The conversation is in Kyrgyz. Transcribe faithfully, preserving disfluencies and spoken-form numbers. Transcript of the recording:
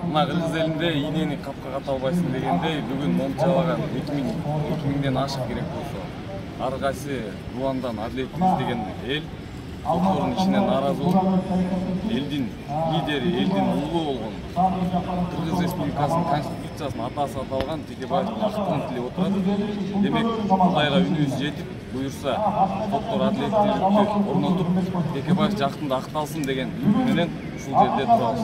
Мына Кыргыз элинде ийнени капка ката албайсың дегендей, бүгүн момчалаган эки миңден ашык керек болсо, ар кайсы Руандан адилетти издеген эл соттордун ишине нааразы болуп, элдин лидери, элдин улуу болгон Кыргыз Республикасынын Конституциясынын атасы аталган Текебаевдин актын тилеп отурат. Демек, Кудайга үнүбүз жетип, буюрса, соттор адилеттүүлүктү орнотуп, Текебаев жактында акталсын деген үмүт менен ушул жерде турабыз.